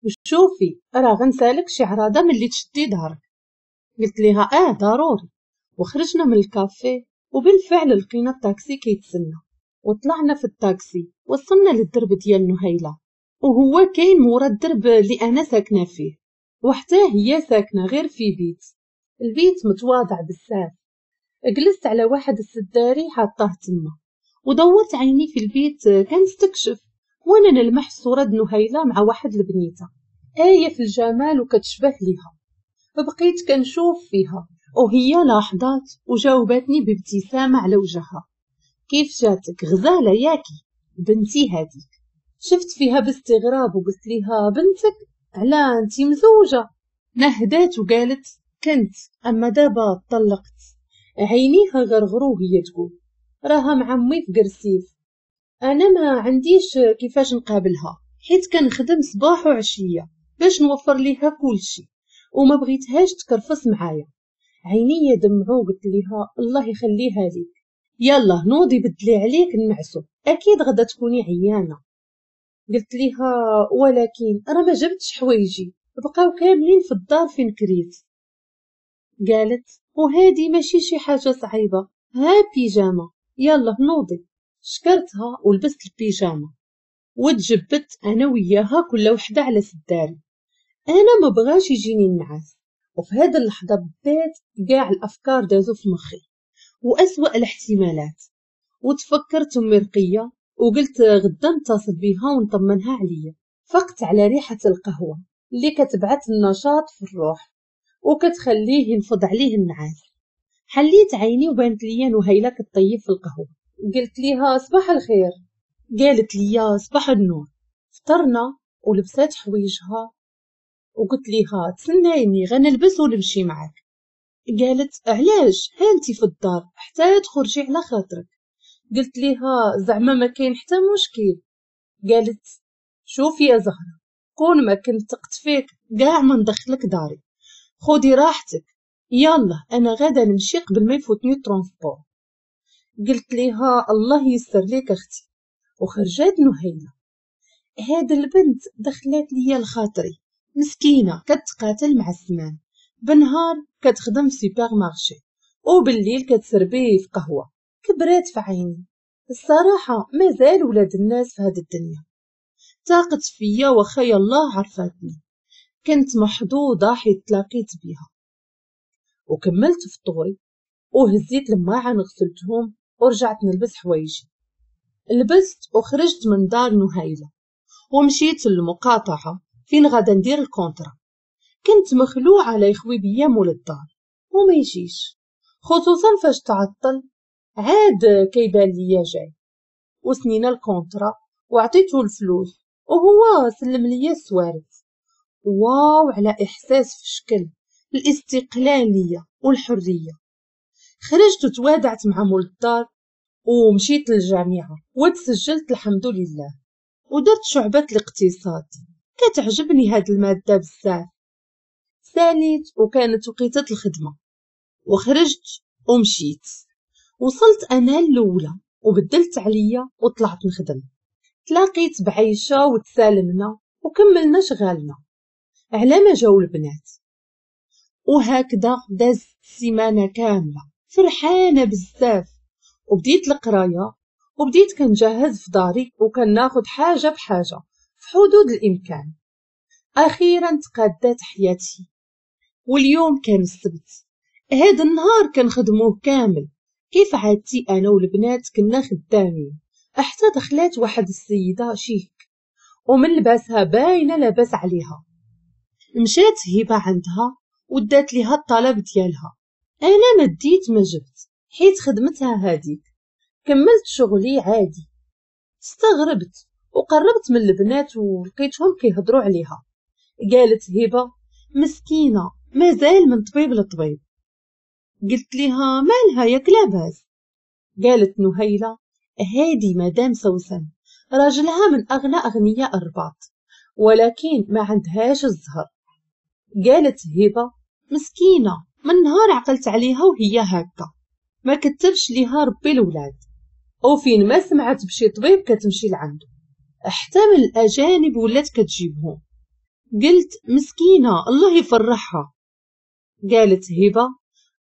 وشوفي راه غنسالك شي عراضه ملي تشدي دارك. قلت ليها اه ضروري. وخرجنا من الكافيه وبالفعل لقينا الطاكسي كيتسنى، وطلعنا في الطاكسي وصلنا للدرب ديال نهيلة، وهو كاين مورا الدرب اللي انا ساكنة فيه، وحتى هي ساكنة غير في بيت. البيت متواضع بزاف. جلست على واحد السداري حاطاه تما، ودورت عيني في البيت كنستكشف، وانا نلمح صورة نهيلة مع واحد البنيتة آية في الجمال وكتشبه ليها. بقيت كنشوف فيها وهي لاحظات وجاوبتني بابتسامة على وجهها، كيف جاتك غزالة ياكي بنتي هذيك. شفت فيها باستغراب وقلت ليها بنتك؟ على انتي مزوجة؟ نهدات وقالت كنت، اما دابا طلقت. عينيها غرغرو وهي تقول راها مع امي في قرسيف، انا ما عنديش كيفاش نقابلها حيت كنخدم صباح وعشية باش نوفر ليها كلشي، وما بغيتهاش تكرفص معايا. عينيا دمعو قلت ليها الله يخليها ليك، يلا نوضي بدلي عليك نعسو، اكيد غدا تكوني عيانه. قلت ليها ولكن راه ما جبتش حوايجي، بقاو كاملين في الدار فين كريت. قالت وهادي ماشي شي حاجة صعيبة، ها بيجامه، يلا نوضي. شكرتها ولبست البيجامه وتجبدت انا وياها كل وحده على سداري. انا ما بغاش يجيني النعاس، وفي هذه اللحظة بالذات كاع الافكار دازو في مخي واسوأ الاحتمالات، وتفكرت امي رقيه وقلت غدا نتصل بيها ونطمنها عليا. فقت على ريحه القهوة اللي كتبعث النشاط في الروح وكتخليه ينفض عليه النعاس. حليت عيني وبانت ليا نهيلة كطيب في القهوة. قلت ليها صباح الخير، قالت ليا صباح النور. فطرنا ولبسات حوايجها وقلت ليها تسنايني غنلبس ونمشي معاك. قالت علاش، ها انتي في الدار حتى تخرجي على خاطرك. قلت ليها زعما ما كاين حتى مشكل. قالت شوفي يا زهره، كون ما كنت ثقت فيك كاع ما ندخلك داري، خدي راحتك، يلا انا غادا نمشي قبل ما يفوتني ال transport. قلت ليها الله يسر ليك اختي. وخرجات نهيله. هاد البنت دخلت ليا لخاطري، مسكينه كتقاتل مع الزمان، بنهار كتخدم في supermarché وبالليل كتسربي في قهوة. كبرات في عيني الصراحة، مازال ولاد الناس في هاد الدنيا. تاقت فيا وخا الله عرفاتني، كنت محظوظة حيت تلاقيت بيها. وكملت فطوري وهزيت الماعن غسلتهم ورجعت نلبس حوايجي. لبست وخرجت من دار نهيله ومشيت للمقاطعه فين غادا ندير ال contrat. كنت مخلوعه على يخوي بيا مول الدار وما يجيش، خصوصا فاش تعطل عاد كيبان ليا جاي. وسنينا ال contrat وعطيته الفلوس وهو سلم ليا السوارت. واو على احساس في شكل الاستقلالية والحرية. خرجت وتوادعت مع مول الدار ومشيت للجامعة وتسجلت الحمد لله، ودرت شعبه الاقتصاد. كتعجبني هاد المادة بزاف. ساليت وكانت وقيته الخدمة وخرجت ومشيت. وصلت انا الاولى وبدلت عليا وطلعت نخدم. تلاقيت بعيشه وتسالمنا وكملنا شغالنا على ما جاو البنات. وهكذا دازت السيمانة كاملة فرحانة بزاف. وبديت القراية وبديت كنجهز في داري وكناخد حاجة بحاجة في حدود الامكان. اخيرا تقادات حياتي. واليوم كان السبت، هذا النهار كنخدموه كامل كيف عادتي. انا والبنات كنا خدامين حتى دخلات واحد السيدة شيك ومن لباسها باينة لاباس عليها. مشات هبه عندها ودات ليها الطلب ديالها. انا ما ديت ما جبت حيت خدمتها هاديك. كملت شغلي عادي. استغربت وقربت من البنات ولقيتهم كيهضروا عليها. قالت هبه مسكينه مازال من طبيب لطبيب. قلت ليها مالها ياك لاباس؟ قالت نهيله هادي مدام سوسن راجلها من اغنى اغنياء الرباط، ولكن ما عندهاش الزهر. قالت هبه مسكينه من نهار عقلت عليها وهي هكا، ما كتبش ليها ربي الولاد، وفين ما سمعت بشي طبيب كتمشي لعنده، حتى من الاجانب ولات كتجيبهم. قلت مسكينة الله يفرحها. قالت هبة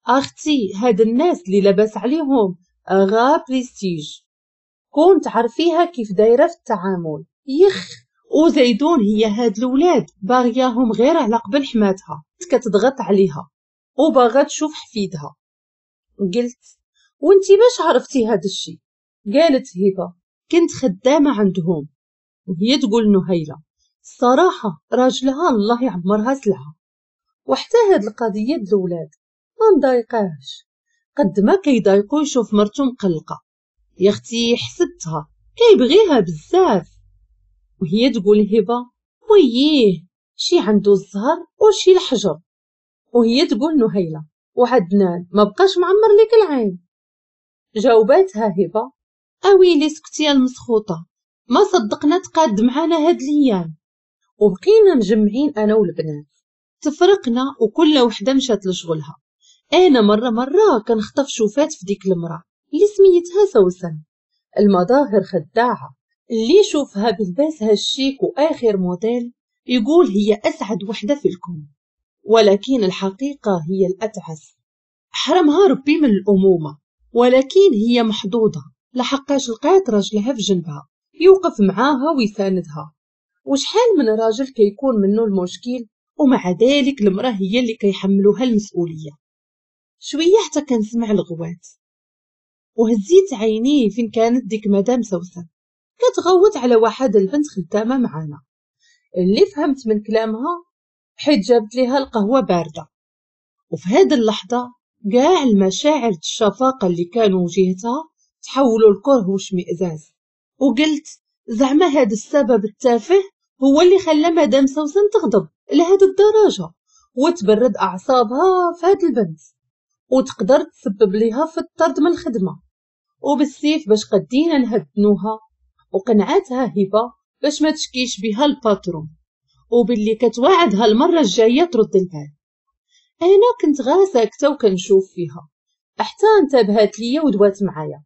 اختي هاد الناس اللي لاباس عليهم غا بريستيج، كون تعرفيها كيف دايرة في التعامل يخ. وزيدون هي هاد الولاد باغياهم غير على قبل حماتها، كتضغط عليها وباغا تشوف حفيدها. قلت وانتي باش عرفتي هاد الشي؟ قالت هبه كنت خدامه عندهم. وهي تقول نهيله الصراحة راجلها الله يعمرها سلعه، وحتى هاد القضية د الولاد ما مضايقاهش قد ما كيضايقو يشوف مرتو مقلقة. يا اختي حسدتها كيبغيها بزاف. وهي تقول هبه وييه شي عنده الزهر وشي الحجر. وهي تقول نهيله وعدنان ما بقاش معمر لك العين. جاوباتها هبه اويلي سكتي المسخوطه، ما صدقنا تقاد معانا هاد الايام. وبقينا مجمعين انا والبنات، تفرقنا وكل وحده مشات لشغلها. انا مرة مرة كنخطف شوفات في ديك المراة اللي سميتها سوسن، المظاهر خداعة، اللي يشوفها بلباسها الشيك واخر موديل يقول هي اسعد وحده في الكون، ولكن الحقيقة هي الاتعس. حرمها ربي من الامومة، ولكن هي محظوظة لحقاش لقات راجلها في جنبها يوقف معاها ويساندها. وشحال من راجل كيكون منه المشكل، ومع ذلك المراة هي اللي كيحملوها المسؤولية. شوية حتى كنسمع الغوات، وهزيت عيني فين كانت ديك مدام سوسن كتغوت على واحد البنت خدامه معانا، اللي فهمت من كلامها حيت جابت ليها القهوة باردة. وفي هذه اللحظة كاع المشاعر الشفاقه اللي كانوا جهتها تحولوا لكرة واشمئزاز. وقلت زعما هذا السبب التافه هو اللي خلى مدام سوسن تغضب لهذه الدرجة وتبرد اعصابها في هذه البنت، وتقدر تسبب ليها في الطرد من الخدمة. وبالسيف باش قدينا نهدنوها، وقنعتها هبه باش ما تشكيش بها ال patron، وباللي كتواعدها المرة الجاية ترد البال. انا كنت غا ساكته وكنشوف فيها حتى انتبهت ليا ودوات معايا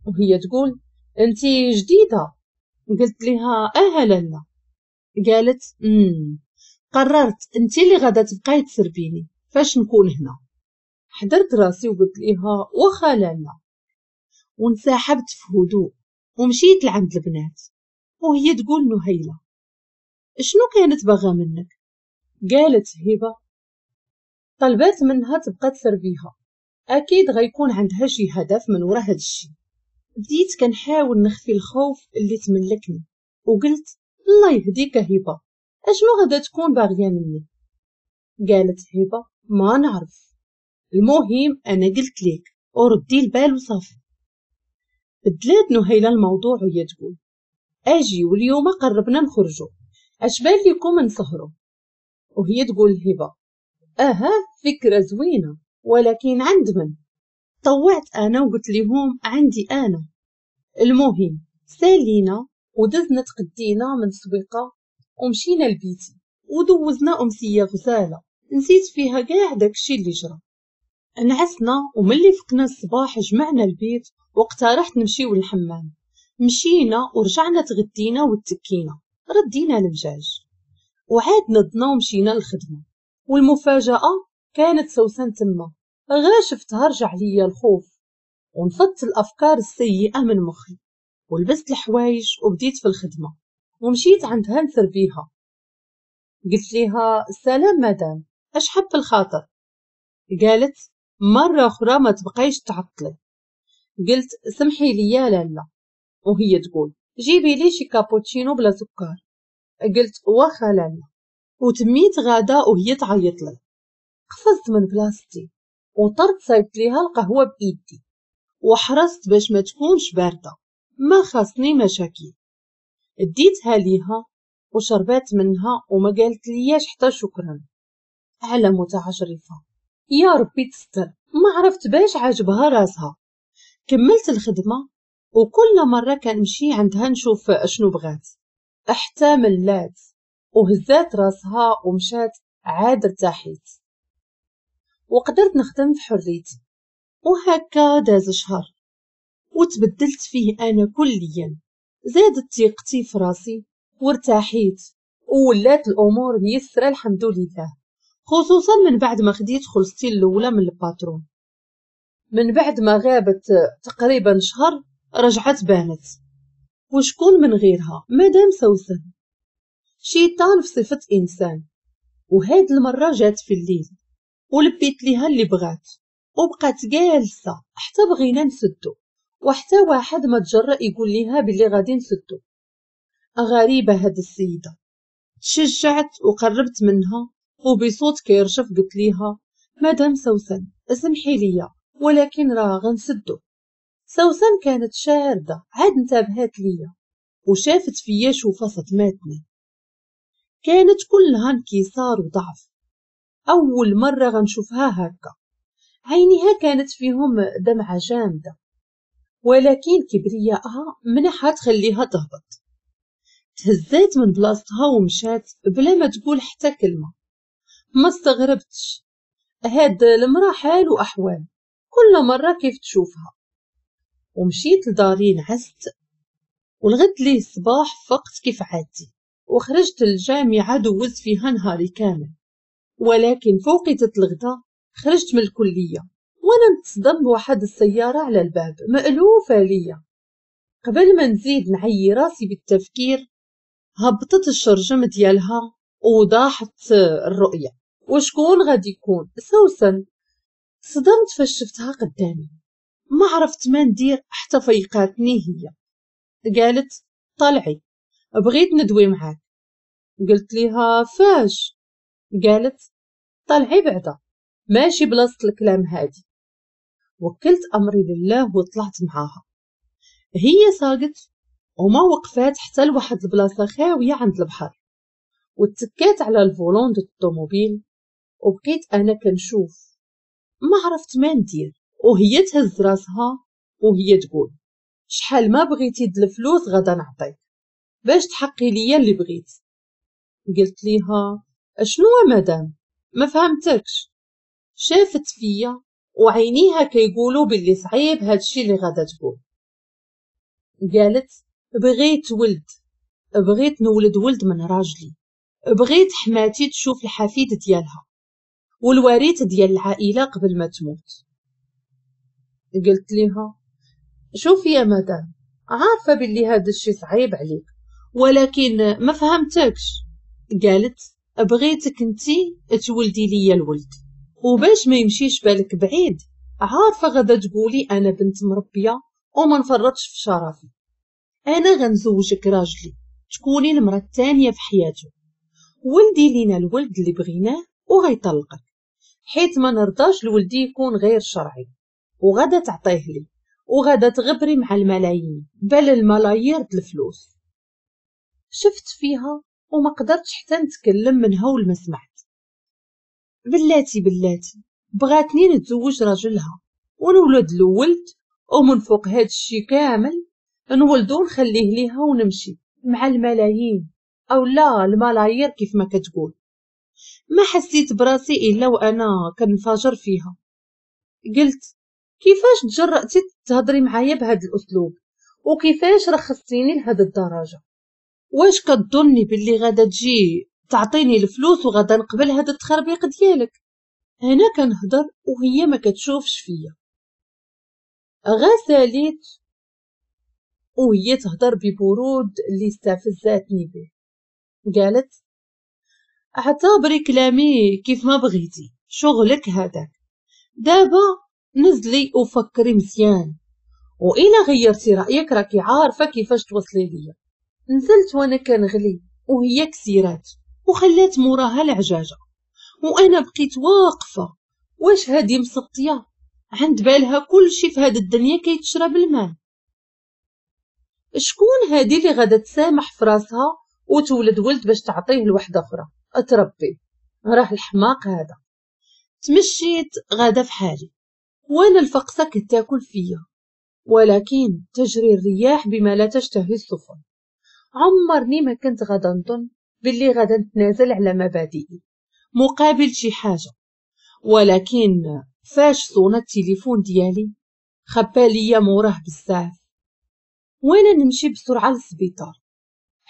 وهي تقول انتي جديدة؟ قلت لها اه لالا. قالت قررت انتي اللي غادا تبقاي تسربيني فاش نكون هنا. حضرت راسي وقلت لها واخا لالا، وانسحبت في هدوء ومشيت لعند البنات. وهي تقول نهيله شنو كانت باغا منك؟ قالت هبه طلبات منها تبقى تسربيها، اكيد غيكون عندها شي هدف من ورا هاد الشي. بديت كنحاول نخفي الخوف اللي تملكني وقلت الله يهديك هبه، اشنو غادا تكون باغية مني؟ قالت هبه ما نعرف، المهم انا قلت لك وردي البال وصافي. بدلات نهيله الموضوع وهي تقول اجي واليوم قربنا نخرجوا، اش بان لكم نسهروا؟ وهي تقول هبه اها فكرة زوينة، ولكن عند من؟ طوعت انا وقلت لهم عندي انا. المهم سالينا ودزنا تقدينا من السويقه ومشينا لبيتي ودوزنا امسية غزاله نسيت فيها كاع داكشي اللي جرى. نعسنا وملي فقنا الصباح جمعنا البيت واقترحت نمشيو للحمام. مشينا ورجعنا تغدينا وتكينا ردينا المجاج وعاد نضنا ومشينا للخدمة. والمفاجاه كانت سوسن تما، غا شفتها رجع ليا الخوف ونفضت الافكار السيئة من مخي ولبست الحوايج وبديت في الخدمة ومشيت عندها نسربيها. قلت ليها سلام مدام، اش حب الخاطر؟ قالت مرة اخرى ما تبقيش تعطلي. قلت سمحي لي يا لالا. وهي تقول جيبي لي شي كابوتشينو بلا سكر. قلت واخا لالا. وتميت غادا وهي تعيط لي. قفزت من بلاصتي وطرت صايبت ليها القهوة بايدي وحرصت باش ما تكونش باردة، ما خاصني مشاكل. اديتها ليها وشربات منها وما قالت لياش حتى شكرا. على متعجرفه يا ربي تستر، ما عرفت باش عاجبها راسها. كملت الخدمة وكل مرة كنمشي عندها نشوف اشنو بغات، حتى ملات وهزات راسها ومشات. عاد ارتاحيت وقدرت نخدم في حريتي. وهكا داز شهر وتبدلت فيه انا كليا، زادت ثقتي في راسي وارتاحيت وولات الامور ميسرة الحمد لله، خصوصا من بعد ما خديت خلصتي الاولى من ال patron. من بعد ما غابت تقريبا شهر رجعت بانت، وشكون من غيرها؟ مدام سوسن، شيطان في صفة انسان. وهاد المرة جات في الليل ولبيت ليها اللي بغات، وبقات جالسة حتى بغينا نسدو، وحتى واحد ما تجرأ يقول ليها باللي غادي نسدو. غريبة هاد السيدة. تشجعت وقربت منها وبصوت كيرشف قلت ليها مدام سوسن اسمحي ليا ولكن راه غنسدو. سوسن كانت شاردة، عاد انتبهت ليا وشافت فيا شوفة صدماتني. كانت كلها انكسار وضعف، أول مرة غنشوفها هكا. عينيها كانت فيهم دمعة جامدة، ولكن كبرياءها منحها تخليها تهبط. تهزات من بلاصتها ومشات بلا ما تقول حتى كلمة. ما استغربتش، هاد المرأة حال وأحوال، كل مرة كيف تشوفها. ومشيت لداري نعست، والغد ليه الصباح فقت كيف عادتي وخرجت للجامعة دوزت فيها نهاري كامل. ولكن فوقتة الغدا خرجت من الكلية وانا نتصدم بواحد السيارة على الباب مألوفة ليا. قبل ما نزيد نعيي راسي بالتفكير هبطت الشرجم ديالها وضاحت الرؤية. وشكون غادي يكون؟ سوسن. صدمت فاش شفتها قدامي، ما عرفت ما ندير حتى فيقاتني هي. قالت طلعي بغيت ندوي معاك. قلت ليها فاش؟ قالت طلعي بعدا ماشي بلاصة الكلام هادي. وكلت امري لله وطلعت معاها. هي ساقت وما وقفات حتى لواحد البلاصة خاوية عند البحر، وتكات على ال volant ديال الطوموبيل وبقيت انا كنشوف، ما عرفت ما ندير. وهي تهز راسها وهي تقول شحال ما بغيتي د الفلوس غادا نعطيك باش تحقي ليا اللي بغيت. قلت ليها اشنو مدام؟ ما فهمتكش. شافت فيا وعينيها كيقولوا باللي صعيب هادشي اللي غادا تقول. قالت بغيت ولد، بغيت نولد ولد من راجلي، بغيت حماتي تشوف الحفيد ديالها والوريث ديال العائلة قبل ما تموت. قلت لها شوفي يا مدام، عارفه باللي هذا الشيء صعيب عليك ولكن ما فهمتكش. قالت بغيتك انتي تولدي ليا الولد، وباش ما يمشيش بالك بعيد عارفه غدا تقولي انا بنت مربيه وما نفرطش في شرفي، انا غنزوجك راجلي تكوني المراة الثانية في حياته، ولدي لينا الولد اللي بغيناه وغيطلقك، حيت ما نرضاش لولدي يكون غير شرعي، وغدا تعطيه لي وغدا تغبري مع الملايين بل الملايير د الفلوس. شفت فيها وما قدرتش حتى نتكلم من هول ما سمعت. بلاتي بلاتي بغاتني نتزوج راجلها ونولد له ولد، ومن فوق هاد الشي كامل نولدو نخليه ليها ونمشي مع الملايين او لا الملايير كيف ما كتقول. ما حسيت براسي الا وانا كنفاجر فيها. قلت كيفاش تجرأتي تهضري معايا بهذا الاسلوب وكيفاش رخصتيني لهاد الدرجة؟ واش كتظني باللي غادا تجي تعطيني الفلوس وغادا نقبل هذا التخربيق ديالك؟ انا كنهضر وهي ما كتشوفش فيا. غساليت وهي تهضر ببرود اللي استفزاتني به. قالت اعتبري كلامي كيف ما بغيتي، شغلك هذاك، دابا نزلي وفكري مزيان، وإلا غيرتي رأيك راكي عارفة كيفاش توصلي ليا. نزلت وانا كنغلي وهي كسيرات وخلات موراها العجاجة، وانا بقيت واقفة. واش هادي مسطية؟ عند بالها كل شي في هاد الدنيا كيتشرب الماء. شكون هادي اللي غادا تسامح في راسها وتولد ولد باش تعطيه لوحدة أخرى تربي؟ راه الحماق هذا. تمشيت غادا في حالي وانا الفقصة كتاكل فيا، ولكن تجري الرياح بما لا تشتهي السفن. عمرني ما كنت غادا نظن باللي غادا نتنازل على مبادئي مقابل شي حاجة، ولكن فاش صونا التليفون ديالي خبا ليا موراه بزاف، وانا نمشي بسرعة للسبيطار.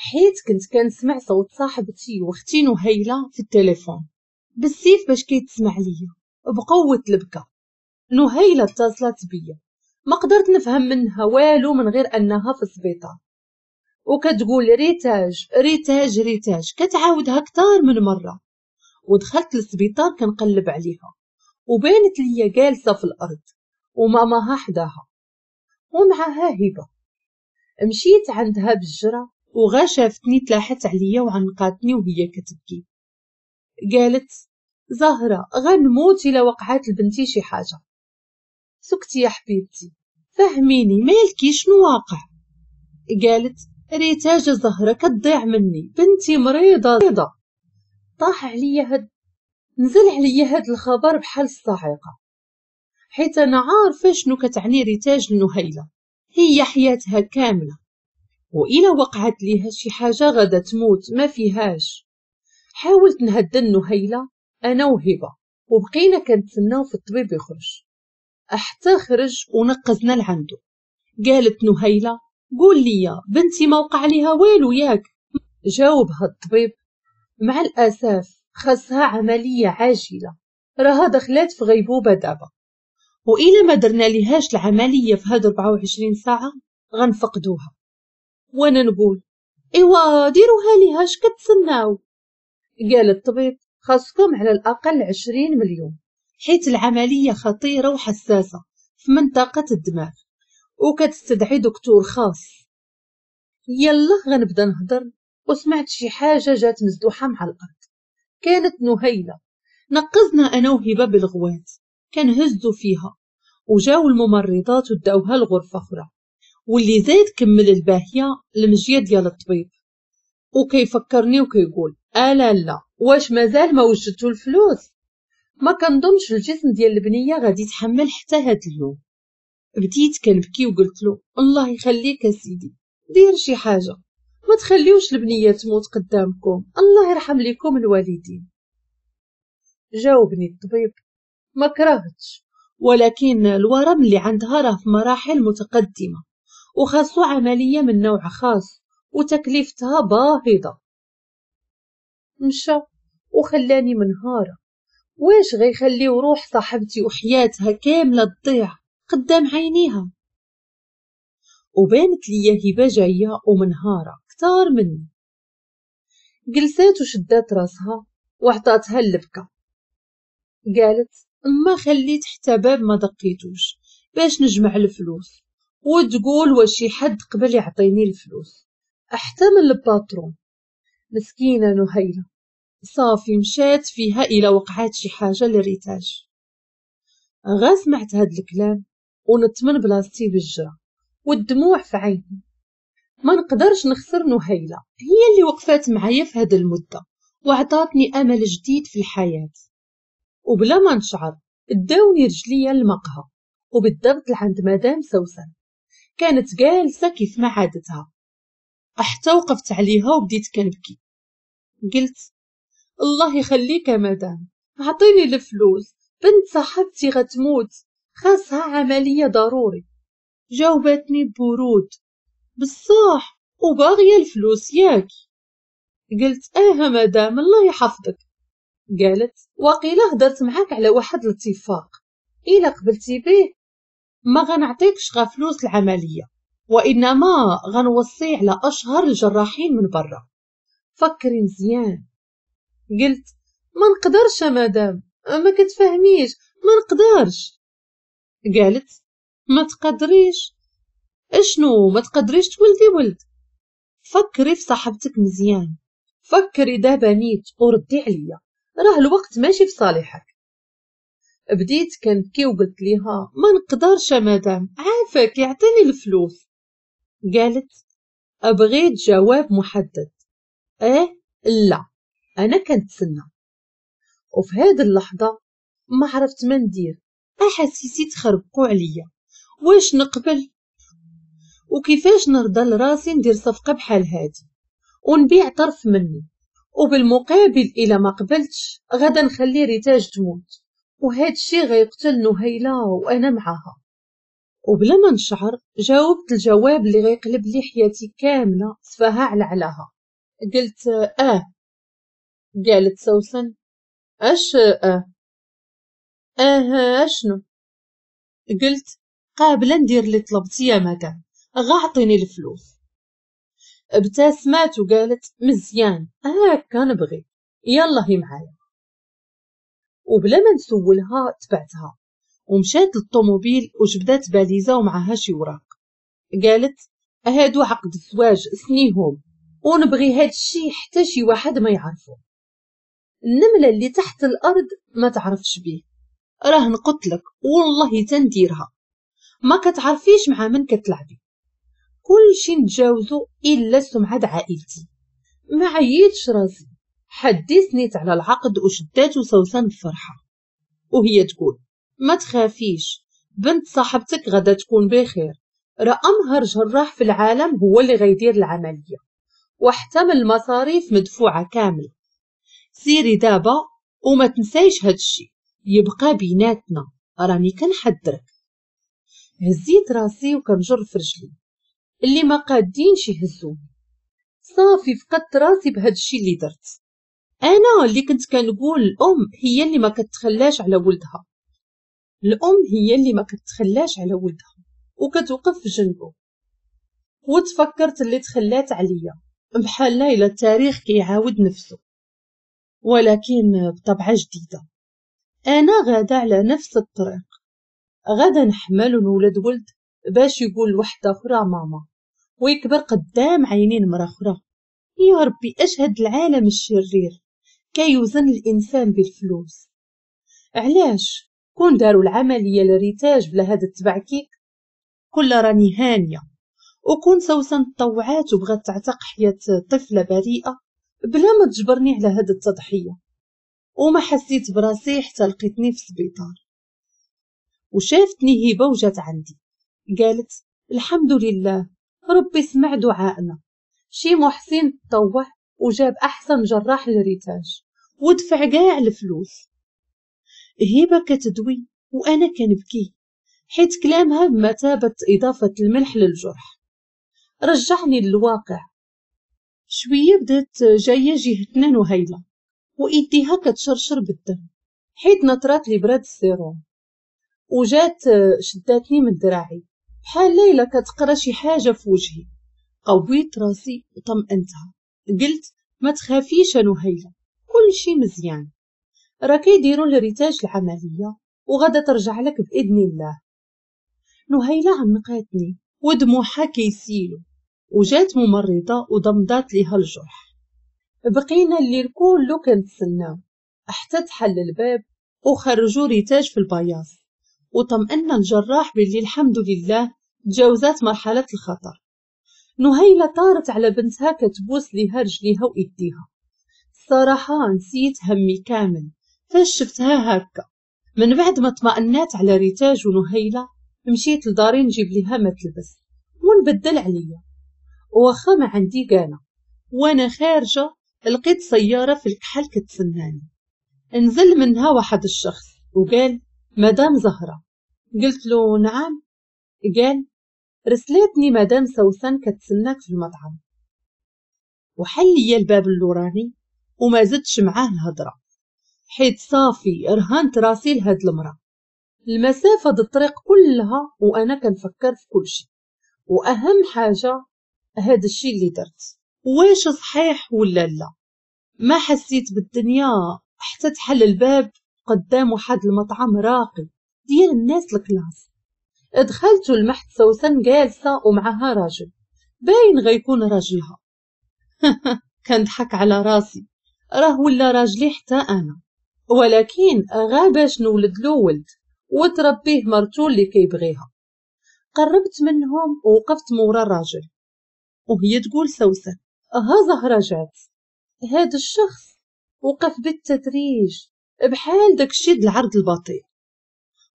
حيت كنت كنسمع صوت صاحبتي واختي نهيلة في التليفون بالسيف باش كيتسمع ليا بقوة البكا. نهيلة اتصلت بيا، ما قدرت نفهم منها والو من غير انها في السبيطار، وكتقول ريتاج ريتاج ريتاج، كتعاودها كتار من مرة. ودخلت للسبيطار كنقلب عليها، وبانت ليا جالسة في الأرض وماماها حداها ومعها هبة. مشيت عندها بالجرة وغا شافتني تلاحت عليا وعنقاتني وهي كتبكي. قالت زهرة غنموت إلا وقعات لبنتي شي حاجة. سكتي يا حبيبتي، فهميني مالكي شنو واقع؟ قالت ريتاج زهرة كتضيع مني، بنتي مريضة. طاح عليا هاد نزل عليا هاد الخبر بحال الصاعقة، حيت أنا عارفة شنو كتعني ريتاج لنهيلة، هي حياتها كاملة، وإلا وقعت ليها شي حاجة غادا تموت ما فيهاش. حاولت نهدن نهيلة أنا وهبة، وبقينا كنتسناو في الطبيب يخرج حتى خرج ونقزنا لعندو. قالت نهيلة قول لي بنتي ما وقع ليها والو ياك؟ جاوبها الطبيب مع الأسف خاصها عملية عاجلة، راها دخلات في غيبوبة دابا، وإلا ما درنا ليهاش العملية في هاد 24 ساعة غنفقدوها. وانا نقول ايوا ديروها ليها اش كتسناو؟ قال الطبيب خاصكم على الأقل 20 مليون، حيت العملية خطيرة وحساسة في منطقة الدماغ وكتستدعي دكتور خاص. يلا غنبدا نهضر وسمعت شي حاجة جات مزدوحة مع الأرض، كانت نهيلة. نقزنا أنا وهبة بالغوات كنهزو فيها، وجاو الممرضات وداوها لغرفة أخرى. واللي زاد كمل الباهية المجية ديال الطبيب، وكيفكرني وكيقول ألا لا واش مازال ما وجدتو الفلوس؟ ما كنظنش الجسم ديال البنية غادي يتحمل حتى هاد اليوم. بديت كنبكي وقلت له الله يخليك اسيدي دير شي حاجة، ما تخليوش البنية تموت قدامكم، الله يرحم لكم الوالدين. جاوبني الطبيب ما كرهتش، ولكن الورم اللي عندها راه في مراحل متقدمة وخاصو عملية من نوع خاص وتكلفتها باهظة. مشى وخلاني منهارة. واش غيخليو روح صاحبتي وحياتها كاملة تضيع قدام عينيها؟ وبانت ليا هبة جاية ومنهارة كتار مني. جلسات وشدات راسها وعطاتها اللبكة. قالت ما خليت حتى باب ما دقيتوش باش نجمع الفلوس، وتقول واش شي حد قبل يعطيني الفلوس حتى من ال patron. مسكينة نهيلة صافي مشات فيها إلى وقعات شي حاجة لريتاج. غا سمعت هاد الكلام ونت من بلاصتي بالجرة والدموع في عيني. ما نقدرش نخسر نهيلة، هي اللي وقفات معايا في هاد المدة وعطاتني أمل جديد في الحياة. وبلا ما نشعر داوني رجليا للمقهى، وبالضبط لعند مدام سوسن. كانت جالسة كيف ما عادتها، حتى وقفت عليها وبديت كنبكي. قلت الله يخليك يا مدام عطيني الفلوس، بنت صاحبتي غتموت خاصها عملية ضروري. جاوبتني ببرود بصح وباغية الفلوس ياك؟ قلت اه مدام الله يحفظك. قالت وقيله هدرت معاك على واحد الاتفاق، إلا قبلتي به ما غنعطيكش غا فلوس العملية، وإنما غنوصي على أشهر الجراحين من برا، فكري مزيان. قلت ما نقدرش يا مدام، ما كتفهميش، ما نقدرش. قالت ما تقدريش؟ اشنو ما تقدريش تولدي ولد؟ فكري في صاحبتك مزيان، فكري دابا نيت وردي عليا، راه الوقت ماشي في صالحك. بديت كنبكي وقلت ليها ما نقدرش يا مدام، عافاك يعطيني الفلوس. قالت ابغيت جواب محدد، اه لا انا كنتسنى. وفي هذه اللحظة ما عرفت ما ندير، احاسيسي تخربقوا عليا، واش نقبل وكيفاش نرضى لراسي ندير صفقة بحال هادي ونبيع طرف مني، وبالمقابل الا ما قبلتش غادا نخلي ريتاج تموت، وهاد الشي غيقتل نهيلة وانا معاها. وبلا ما نشعر جاوبت الجواب اللي غيقلب لي حياتي كاملة سفاها على علاها. قلت اه. قالت سوسن اش اه؟ اه اشنو؟ قلت قابله ندير اللي طلبتي يا مدام، غا عطيني الفلوس. ابتسمات وقالت مزيان هاكا نبغي، يلا هي معايا. وبلا ما نسولها تبعتها ومشات للطوموبيل وجبدات باليزه ومعها شي وراق. قالت هادو عقد الزواج سنيهم، ونبغي هاد الشي حتى شي واحد ما يعرفه، النملة اللي تحت الارض ما تعرفش بيه، راه نقتلك والله تنديرها، ما كتعرفيش مع من كتلعبي، كل شي نتجاوزو الا سمعة عائلتي. ما عييتش راسي، حدثنيت على العقد وشداتو سوسن بفرحة وهي تقول ما تخافيش، بنت صاحبتك غدا تكون بخير، راه امهر جراح في العالم هو اللي غيدير العملية، وحتى من المصاريف مدفوعة كاملة. سيري دابا وما تنسايش هادشي، يبقى بيناتنا، راني كنحذرك. هزيت راسي وكنجر في رجلي اللي ما قادينش يهزوني. صافي فقدت راسي بهاد الشي اللي درت. انا اللي كنت كنقول الام هي اللي ما كتخلاش على ولدها، الام هي اللي ما كتخلاش على ولدها وكتوقف في جنبه. وتفكرت اللي تخلات عليا بحال الا التاريخ كيعاود نفسه، ولكن بطبعه جديدة. انا غاده على نفس الطريق، غاده نحمل ونولد ولد باش يقول لوحده اخرى ماما، ويكبر قدام عينين مرا اخرى. يا ربي اش هاد العالم الشرير كيوزن الانسان بالفلوس. علاش كون داروا العملية لريتاج بلا هاد التبعكيك كل راني هانيه، وكون سوسن تطوعات وبغات تعتق حياة طفله بريئة بلا ما تجبرني على هاد التضحية. وما حسيت براسي حتى لقيتني في السبيطار. وشافتني هبه وجات عندي قالت الحمد لله ربي سمع دعائنا، شي محسن تطوع وجاب احسن جراح لريتاج ودفع كاع الفلوس. هبه كتدوي وانا كنبكي حيت كلامها بمثابة اضافه الملح للجرح. رجعني للواقع. شوية بدات جاية جهتنا نهيله وايديها كتشرشر بالدم حيت نطرات لي براد السيروم، وجات شداتني من دراعي بحال ليلى كتقرا شي حاجة في وجهي. قويت راسي وطمأنتها، قلت ما تخافيش نهيله كل شي مزيان، راه كيديروا لريتاج العملية وغادا ترجع لك باذن الله. نهيله عنقاتني ودموعها كيسيلو، وجات ممرضة وضمدات ليها الجرح. بقينا الليل كله كنتسناو حتى تحل الباب وخرجوا ريتاج في البياص، وطمأن الجراح باللي الحمد لله تجاوزات مرحلة الخطر. نهيلة طارت على بنتها كتبوس ليها رجليها وإيديها. الصراحة نسيت همي كامل فاش شفتها هكا. من بعد ما طمأنات على ريتاج ونهيلة مشيت لداري نجيب ليها ما تلبس ونبدل عليا، واخا ما عندي كانا. وانا خارجة لقيت سيارة في الكحل كتسناني. نزل منها واحد الشخص وقال مدام زهرة. قلت له نعم. قال رسلتني مدام سوسن كتسناك في المطعم. وحل لي الباب اللوراني وما زدتش معاه الهضرة حيت صافي رهنت راسي لهاد المرأة. المسافة د الطريق كلها وانا كنفكر في كل شيء، واهم حاجة هاد الشيء اللي درت واش صحيح ولا لا. ما حسيت بالدنيا حتى تحل الباب قدام واحد المطعم راقي ديال الناس ال classe. دخلت ولمحت سوسن جالسة ومعها راجل باين غيكون راجلها. كنضحك على راسي، راه ولا راجلي حتى انا، ولكن غا باش نولد له ولد وتربيه مرتو اللي كيبغيها. قربت منهم ووقفت مورا الراجل وهي تقول سوسن ها زهرة جات. هاد الشخص وقف بالتدريج بحال داكشي د العرض البطيء،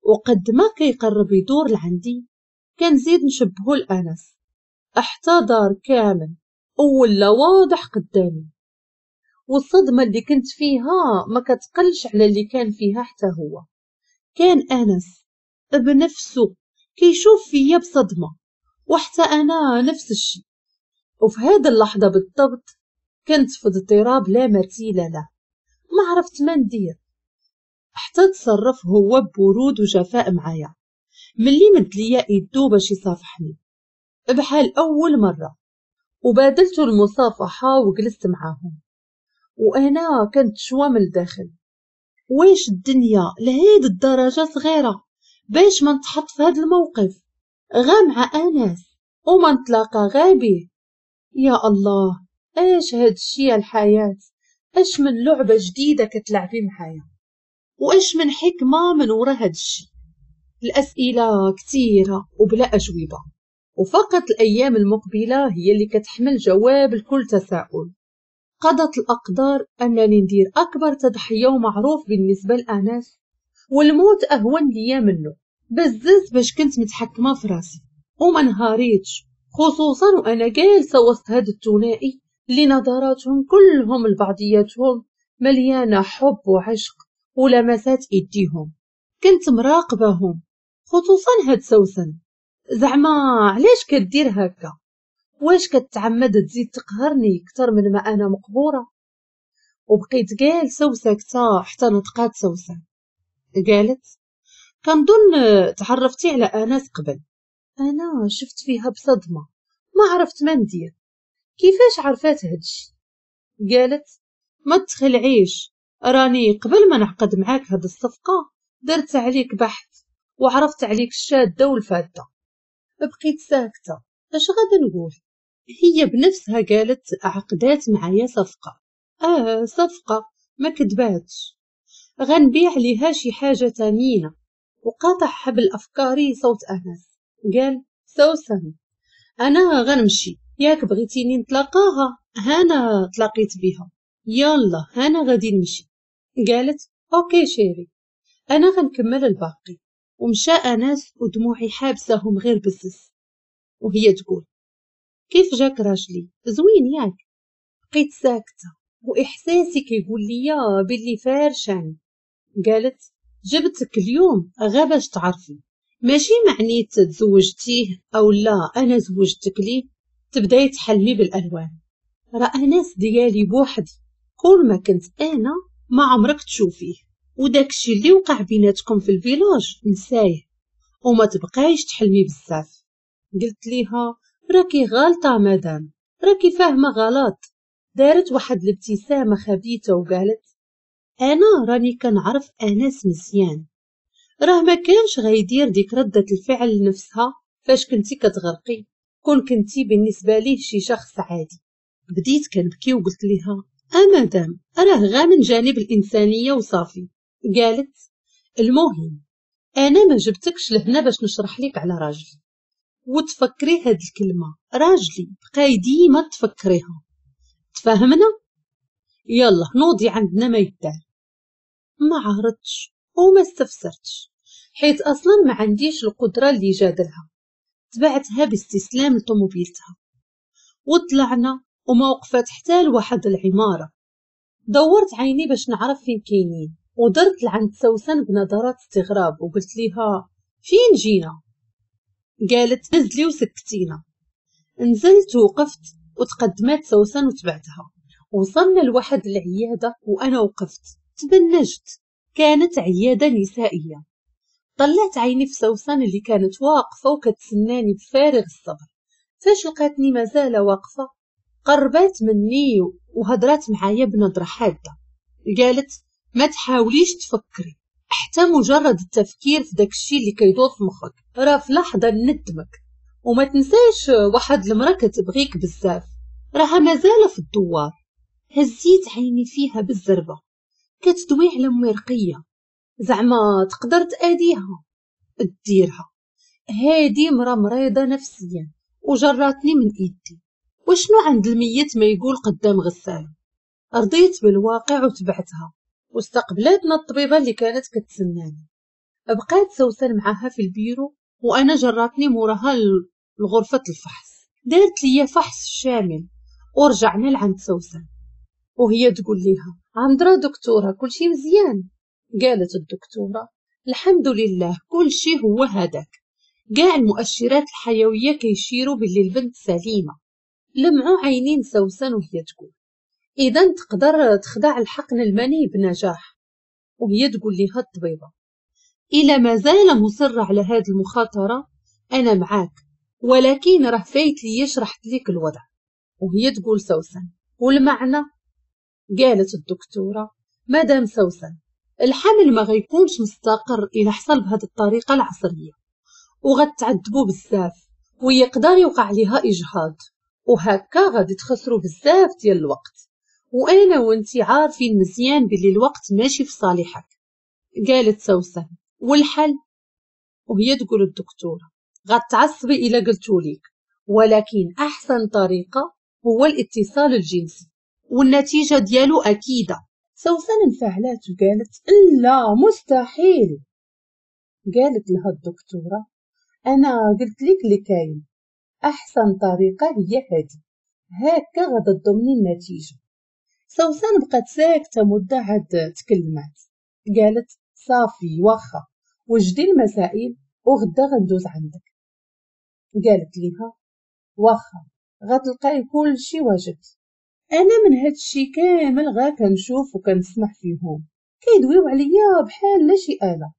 وقد ما كيقرب يدور لعندي كنزيد نشبهو لأنس حتى دار كامل ولا واضح قدامي. والصدمة اللي كنت فيها ما كتقلش على اللي كان فيها حتى هو. كان أنس بنفسه كيشوف فيا بصدمة، وحتى أنا نفس الشيء. وفي هذه اللحظة بالضبط كنت في اضطراب لا مثيل له، ما عرفت ما ندير. حتى تصرف هو ببرود وجفاء معايا ملي مد ليا ايدو باش يصافحني بحال اول مرة، وبادلت المصافحة وجلست معاهم، وانا كنت شوا من الداخل. واش الدنيا لهاد الدرجة صغيرة باش ما نتحط في هاد الموقف غا مع انس وما نتلاقى غا بيه؟ يا الله، اش هاد الشي الحياة؟ اش من لعبه جديدة كتلعبي معايا؟ واش من حكمه من ورا هاد الشي؟ الاسئلة كثيرة وبلا اجوبه، وفقط الايام المقبلة هي اللي كتحمل جواب لكل تساؤل. قضت الاقدار انني ندير اكبر تضحية ومعروف بالنسبة لانس، والموت اهون ليا منه. بزز باش كنت متحكمه في راسي وما نهاريتش، خصوصا وانا جالسة وسط هاد الثنائي اللي نظراتهم كلهم لبعضياتهم مليانة حب وعشق ولمسات ايديهم. كنت مراقبهم، خصوصا هاد سوسن. زعما علاش كدير هكا؟ واش كتعمد تزيد تقهرني اكثر من ما انا مقهوره؟ وبقيت جالسة وساكته حتى نطقات سوسن، قالت كنظن تعرفتي على انس قبل. انا شفت فيها بصدمة، ما عرفت ما ندير. كيفاش عرفات هادشي؟ قالت ما تخلعيش، راني قبل ما نعقد معاك هاد الصفقة درت عليك بحث وعرفت عليك الشاده والفاده. بقيت ساكته، اش غادي نقول؟ هي بنفسها قالت عقدات معايا صفقة. صفقة ما كذباتش، غنبيع ليها شي حاجة ثمينة. وقاطع حبل افكاري صوت انس، قال سوسن انا غنمشي، ياك بغيتيني نتلاقاها؟ هانا تلاقيت بها، يلا هانا غادي نمشي. قالت OK chérie، انا غنكمل الباقي. ومشى انس ودموعي حابسهم غير بزز، وهي تقول كيف جاك راجلي؟ زوين ياك؟ بقيت ساكته واحساسي كيقول لي باللي فارشاني. قالت جبتك اليوم غا باش تعرفي، ماشي معني تزوجتيه او لا انا زوجتك ليه تبداي تحلمي بالالوان. راه انس ديالي بوحدي، كل ما كنت انا ما عمرك تشوفيه، وداكشي اللي وقع بيناتكم في ال village نسايه وما تبقايش تحلمي بزاف. قلت ليها راكي غالطه مدام، راكي فاهمه غلط. دارت واحد الابتسامة خبيثة وقالت انا راني كنعرف انس مزيان، راه ما كانش غيدير ديك ردة الفعل لنفسها فاش كنتي كتغرقي، كون كنتي بالنسبة ليه شي شخص عادي. بديت كنبكي وقلت ليها مدام راه غا من جانب الانسانية وصافي. قالت المهم انا ما جبتكش لهنا باش نشرح لك على راجلي، وتفكري هاد الكلمة راجلي بقاي ديما تفكريها، تفهمنا؟ يلا نوضي عندنا ما يدار. ما عرضتش وما استفسرتش حيت اصلا ما عنديش القدرة اللي جادلها. تبعتها باستسلام لطوموبيلتها وطلعنا وما وقفت حتى لواحد العمارة. دورت عيني باش نعرف فين كاينين، ودرت لعند سوسن بنظرات استغراب وقلت ليها فين جينا؟ قالت نزلي وسكتينا. نزلت ووقفت وتقدمات سوسن وتبعتها. وصلنا لواحد العيادة وانا وقفت تبنجت، كانت عيادة نسائية. طلعت عيني في سوسن اللي كانت واقفة وكتسناني بفارغ الصبر. فاش لقاتني مازال واقفة قربات مني وهضرات معايا بنظره حادة. قالت ما تحاوليش تفكري، حتى مجرد التفكير في داكشي اللي كيدور في مخك راه في لحظة ندمك. وما تنساش واحد المراة كتبغيك بزاف، راها مازال في الدوار. هزيت عيني فيها بالزربه، كتدوي على امي رقيه، زعما تقدر تاديها ديرها، هادي مرا مريضه نفسيا وجراتني من ايدي. وشنو عند الميت ما يقول قدام غسالة؟ رضيت بالواقع وتبعتها، واستقبلتنا الطبيبة اللي كانت كتسناني. بقات سوسن معاها في البيرو وانا جراتني موراها لغرفة الفحص. دارت ليا فحص شامل ورجعنا لعند سوسن وهي تقول ليها عندرا دكتورة كلشي مزيان؟ قالت الدكتورة الحمد لله كلشي هو هذاك، كاع المؤشرات الحيوية كيشيروا باللي البنت سليمة. لمعوا عينين سوسن وهي تقول اذا تقدر تخضع الحقن المني بنجاح. وهي تقول لها الطبيبة الا مازال مصرة على هذه المخاطرة انا معاك، ولكن راه فايت ليا شرحت لك الوضع. وهي تقول سوسن والمعنى؟ قالت الدكتورة مدام سوسن الحمل ما غيكونش مستقر إلا حصل بهذه الطريقة العصرية، وغتعذبوا بزاف ويقدر يوقع لها إجهاض، وهكا غادي تخسروا بزاف ديال الوقت، وأنا وانتي عارفين مزيان باللي الوقت ماشي في صالحك. قالت سوسن والحل؟ وهي تقول الدكتورة غتعصبي إلا قلتوليك، ولكن أحسن طريقة هو الاتصال الجنسي والنتيجة ديالو أكيدة. سوسن انفعلت وقالت لا مستحيل. قالت لها الدكتورة أنا قلت لك اللي كاين، أحسن طريقة هي هذه، هكا غادا تضمني النتيجة. سوسن بقات ساكتة مدة عاد تكلمات، قالت صافي واخا وجدي المسائل وغدا غندوز عندك. قالت لها واخا غتلقاي كل شي واجد. انا من هادشي كامل غا كنشوف وكنسمع فيهم كيدويو عليا بحال لا شي آلة.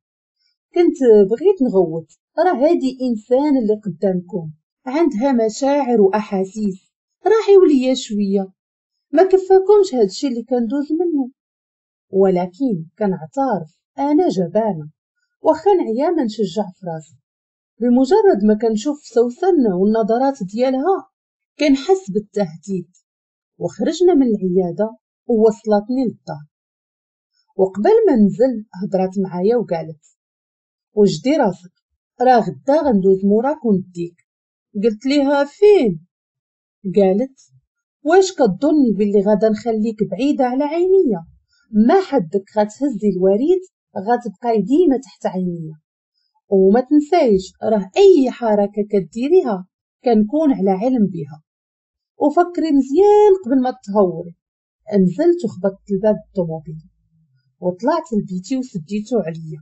كنت بغيت نغوت، راه هادي انسان اللي قدامكم عندها مشاعر واحاسيس، راحيو ليا شوية، ما كفاكمش هادشي اللي كندوز منه. ولكن كنعترف انا جبانه، واخا نعيا ما نشجع في راسي. بمجرد ما كنشوف سوسن والنظرات ديالها كنحس بالتهديد. وخرجنا من العيادة ووصلتني للدار، وقبل ما ننزل هضرات معايا وقالت وجدي راسك راه غدا غندوز موراك ونديك. قلت ليها فين؟ قالت واش كتظني باللي غادا نخليك بعيدة على عينيا؟ ما حدك غتهزي الوريد غتبقاي ديما تحت عينيا، وما تنسايش راه اي حركة كديريها كنكون على علم بها، وفكري مزيان قبل ما تهوري. نزلت وخبطت الباب الطوموبيل وطلعت لبيتي وسديتو عليا،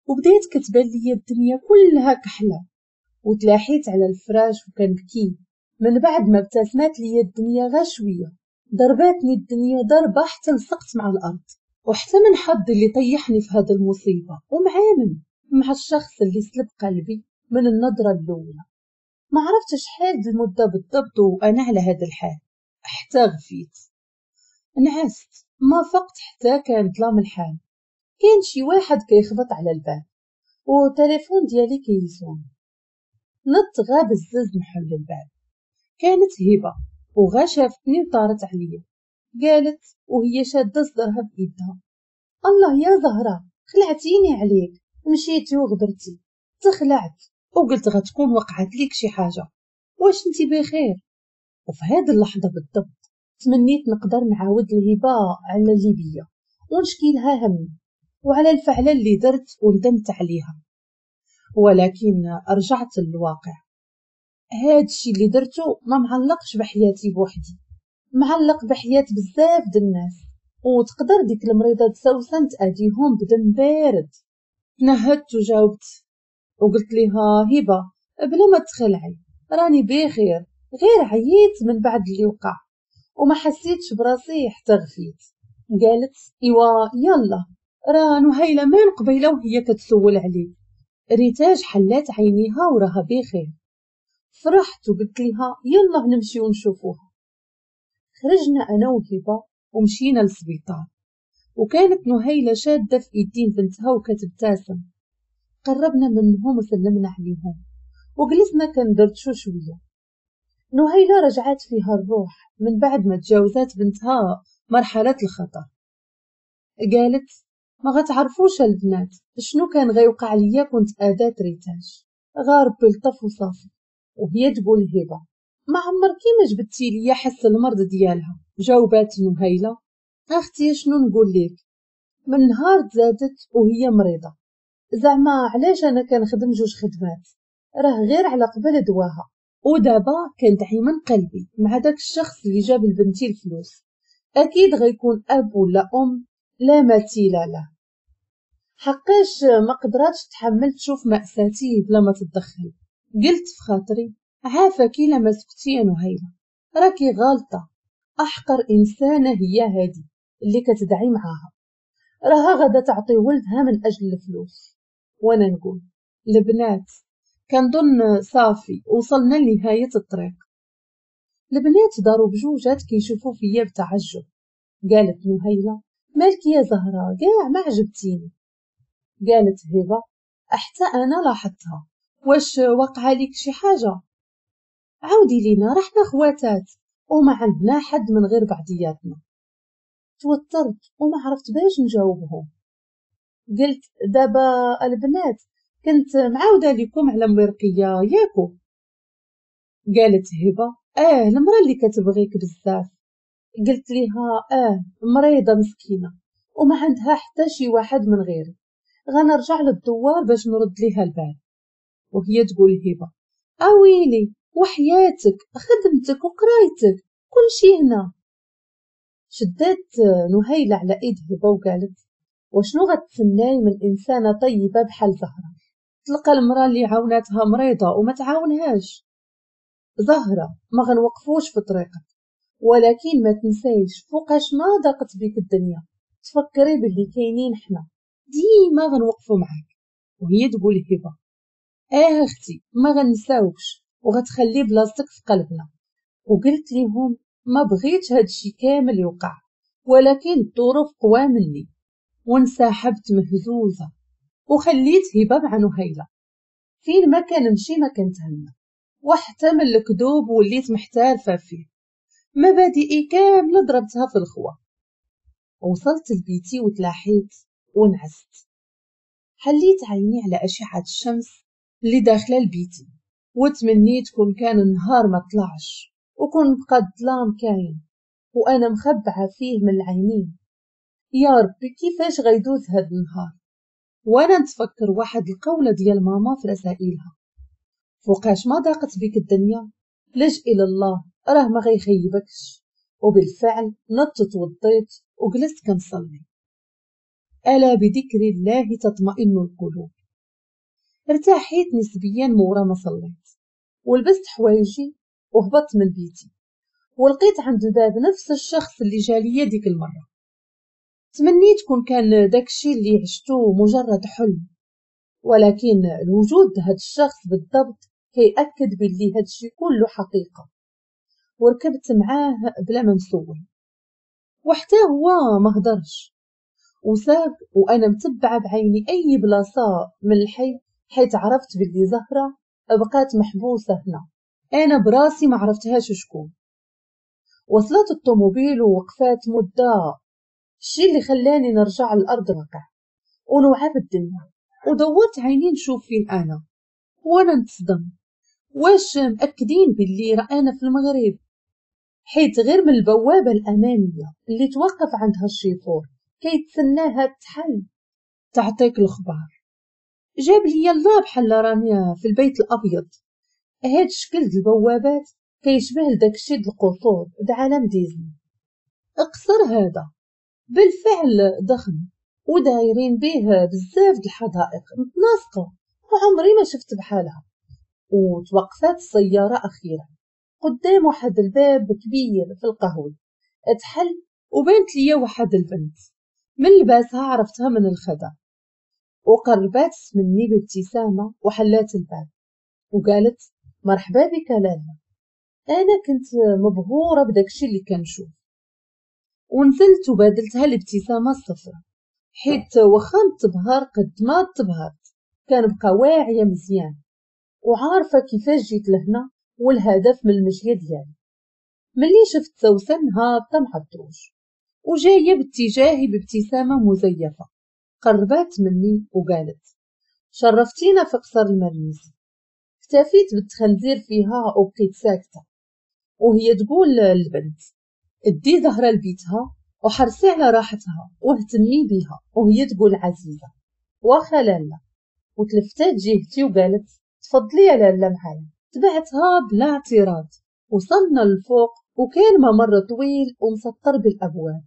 وبديت كتبان ليا الدنيا كلها كحلة، وتلاحيت على الفراش وكنبكي. من بعد ما ابتسمات ليا الدنيا غا شوية، ضرباتني الدنيا ضربه حتى لصقت مع الارض، وحتى من حظي اللي طيحني في هذا المصيبة، ومعامن مع الشخص اللي سلب قلبي من النظرة الاولى. ما عرفت شحال المدة بالضبط وانا على هذا الحال حتى غفيت نعست، ما فقت حتى كان ظلام الحال. كان شي واحد كيخبط على الباب والتليفون ديالي كيصون. نط غا بزز نحل الباب، كانت هبه وغا شافتني وطارت عليا. قالت وهي شاده صدرها بايدها الله يا زهره خلعتيني عليك، مشيتي وغبرتي. تخلعت وقلت غتكون وقعت ليك شي حاجة، واش انتي بخير؟ وفي هذه اللحظة بالضبط تمنيت نقدر نعاود الهبة على اللي بيا ونشكي لها همي وعلى الفعلة اللي درت وندمت عليها، ولكن رجعت للواقع. هاد الشي اللي درتو ما معلقش بحياتي بوحدي، معلق بحياة بزاف د الناس، وتقدر ديك المريضة سوسن تأذيهم بدم بارد. تنهدت وجاوبت وقلت لها هبه بلا ما تخلعي راني بخير، غير عييت من بعد اللي وقع وما حسيتش براسي حتى غفيت. قالت ايوا يلا راه نهيله من قبيلة وهي كتسول عليك. ريتاج حلات عينيها وراها بخير. فرحت وقلت لها يلا نمشي ونشوفوها. خرجنا انا وهبه ومشينا للسبيطار، وكانت نهيله شاده في ايدين بنتها وكتبتسم. قربنا منهم وسلمنا عليهم وجلسنا كندردشو شوية. نهيله رجعت فيها الروح من بعد ما تجاوزات بنتها مرحلة الخطر. قالت ما غتعرفوش البنات شنو كان غيوقع ليا كنت ادات ريتاج، غا ربي لطف وصافي. وهي تقول هبه ما عمركي ما جبتي ليا حس المرض ديالها. جاوبات نهيله اختي شنو نقول لك، من نهار تزادت وهي مريضه، زعما علاش انا كنخدم جوج خدمات، راه غير على قبل دواها، ودابا كندعي من قلبي مع داك الشخص اللي جاب لبنتي الفلوس، اكيد غيكون اب ولا ام لا مثيل له. حقاش ما قدراتش تحمل تشوف مأساتي بلا ما تتدخل. قلت في خاطري عافاك الا ما سكتي يا نهيلة، راكي غالطة، احقر انسانة هي هادي اللي كتدعي معاها، راها غادا تعطي ولدها من اجل الفلوس. وانا نقول البنات كنظن صافي وصلنا لنهاية الطريق. البنات داروا بجوجات كيشوفوا فيا بتعجب. قالت نهيلة مالك يا زهرة كاع ما عجبتيني. قالت هبة حتى انا لاحظتها، واش وقع لك شي حاجة؟ عاودي لينا رحنا خواتات وما عندنا حد من غير بعضياتنا. توترت وما عرفت باش نجاوبهم. قلت دابا البنات كنت معاودة لكم على مرقية ياكو. قالت هبة المرأة اللي كتبغيك بزاف. قلت لها مريضة مسكينة وما عندها حتى شي واحد من غيري، غنرجع للدوار باش نرد ليها البال. وهي تقول هبة اويلي وحياتك خدمتك وقرايتك كل شي هنا. شدات نهيلة على ايد هبة وقالت وشنو غتسناي من انسانة طيبة بحال زهرة؟ تلقى المرأة اللي عاوناتها مريضة وما تعاونهاش. زهرة ما غنوقفوش في طريقك، ولكن ما تنسايش فوقاش ما ضاقت بك الدنيا تفكري باللي كاينين حنا ديما غنوقفوا معاك. وهي تقول هبة اختي ما غنساوكش وغتخلي بلاصتك في قلبنا. وقلت لهم ما بغيتش هادشي كامل يوقع، ولكن الظروف قوى مني، وانسحبت مهزوزة وخليت هبة مع نهيلة. فين ما كنمشي ما كنتهنى، وحتى من الكذوب وليت محترفة فيه، مبادئي كاملة ضربتها في الخوا. وصلت لبيتي وتلاحيت ونعست. حليت عيني على أشعة الشمس اللي داخلة لبيتي، وتمنيت كون كان النهار ما طلعش وكون بقى الظلام كاين وانا مخبعه فيه من العينين. يا ربي كيفاش غيدوز هاد النهار؟ وانا نتفكر واحد القوله ديال ماما في رسائلها، فوقاش ما ضاقت بك الدنيا لج الى الله راه ما غيخيبكش. وبالفعل نطت وضيت وجلست كنصلي. الا بذكر الله تطمئن القلوب. ارتاحيت نسبيا مورا ما صليت، ولبست حوايجي وهبطت من بيتي، ولقيت عند الباب نفس الشخص اللي جالية ديك المرة. تمنيت كون كان داكشي اللي عشتو مجرد حلم، ولكن الوجود هاد الشخص بالضبط كيأكد باللي هادشي كله حقيقة. وركبت معاه بلا ما نسول، وحتى هو ما هدرش وساق، وانا متبعة بعيني اي بلاصة من الحي، حيت عرفت باللي زهرة بقات محبوسة هنا، انا براسي ما عرفتهاش شكون. وصلت الطوموبيل ووقفات مدة، الشي اللي خلاني نرجع للارض واقع ونوعى بالدنيا. ودورت عيني نشوف فين انا، وانا نتصدم واش مأكدين باللي راه انا في المغرب، حيت غير من البوابة الامامية اللي توقف عندها الشيفور كيتسناها تحل تعطيك الخبار. جاب لي الله بحال راني في البيت الابيض. هاد الشكل د البوابات كيشبه لداكشي د القصور د عالم ديزني. اقصر هذا بالفعل ضخم ودايرين به بزاف د الحدائق متناسقه وعمري ما شفت بحالها. وتوقفات السيارة اخيرا قدام واحد الباب كبير في القهوة، اتحل وبانت ليا واحد البنت من لباسها عرفتها من الخدع، وقربات مني بابتسامة وحلات الباب وقالت مرحبا بك لالا. انا كنت مبهوره بداكشي اللي كنشوف، ونزلت وبادلتها الابتسامة الصفراء، حيت واخا نتبهر قد ما تبهرت كنبقى واعية مزيان وعارفه كيفاش جيت لهنا والهدف من المشية ديالي. ملي شفت سوسن هابطة مع الدروج وجاية باتجاهي بابتسامة مزيفة، قربات مني وقالت شرفتينا في قصر المرنيسي. اكتفيت بالتخنزير فيها وبقيت ساكته، وهي تقول للبنت ادي زهره لبيتها وحرصي على راحتها واهتمي بيها. وهي تقول عزيزه واخا لالا، وتلفتات جهتي وقالت تفضلي يا لالا معايا. تبعتها بلا اعتراض. وصلنا للفوق وكان ممر طويل ومسطر بالابواب.